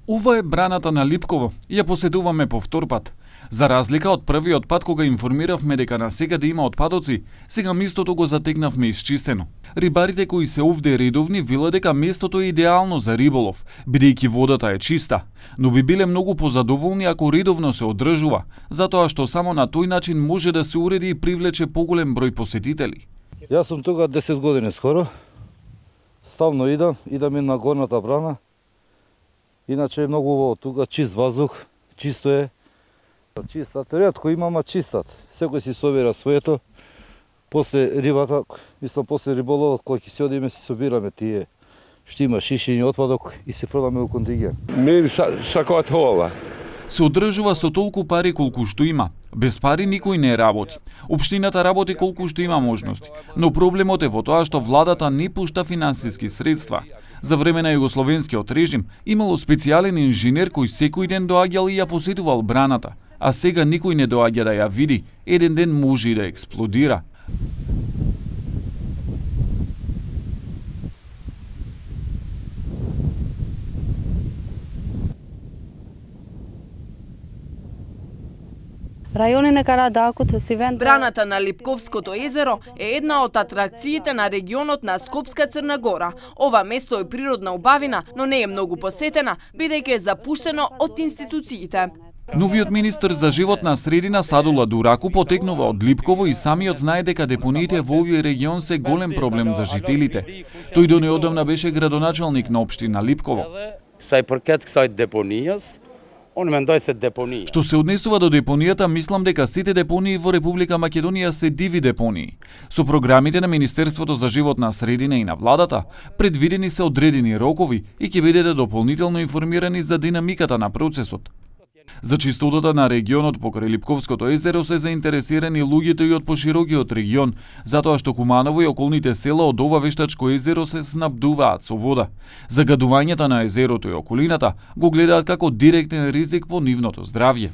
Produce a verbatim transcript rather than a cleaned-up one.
Ова е браната на Липково и ја посетуваме по втор пат. За разлика од првиот пат кога информиравме дека насекаде има отпадоци, сега местото го затекнавме исчистено. Рибарите кои се овде редовни велат дека местото е идеално за риболов, бидејќи водата е чиста, но би биле многу позадоволни ако редовно се одржува, затоа што само на тој начин може да се уреди и привлече поголем број посетители. Јас сум тука десет години скоро. Ставно идам, идам и на горната брана. Иначе е многу убаво тука, чист воздух, чисто е. Чистат, ретко имама чистат. Секој си собира своето. После рибата, мислам после риболовот кој ќе се одиме си собираме тие што има шишени отпадок и се фрламе во контингент. Ми сакаат хола. Се одржува со толку пари колку што има. Без пари никој не работи. Општината работи колку што има можности, но проблемот е во тоа што владата не пушта финансиски средства. За време на југословенскиот режим имало специјален инженер кој секој ден доаѓал и ја посетувал браната, а сега никој не доаѓа да ја види, еден ден може и да експлодира. Браната на Липковското езеро е една од атракциите на регионот на Скопска Црна Гора. Ова место е природна убавина, но не е многу посетена, бидејќи е запуштено од институциите. Новиот министер за животна средина Садула Дураку потекнува од Липково и самиот знае дека депониите во овој регион се голем проблем за жителите. Тој до неодамна беше градоначалник на општина Липково. Сај паркет кај депонијас. Што се однесува до депонијата, мислам дека сите депонии во Република Македонија се диви депонии. Со програмите на Министерството за животна средина и на владата, предвидени се одредени рокови и ќе бидете дополнително информирани за динамиката на процесот. За чистотата на регионот покрај Липковското езеро се заинтересирани луѓето и од поширокиот регион, затоа што Куманово и околните села од ова вештачко езеро се снабдуваат со вода. Загадувањето на езерото и околината го гледаат како директен ризик по нивното здравје.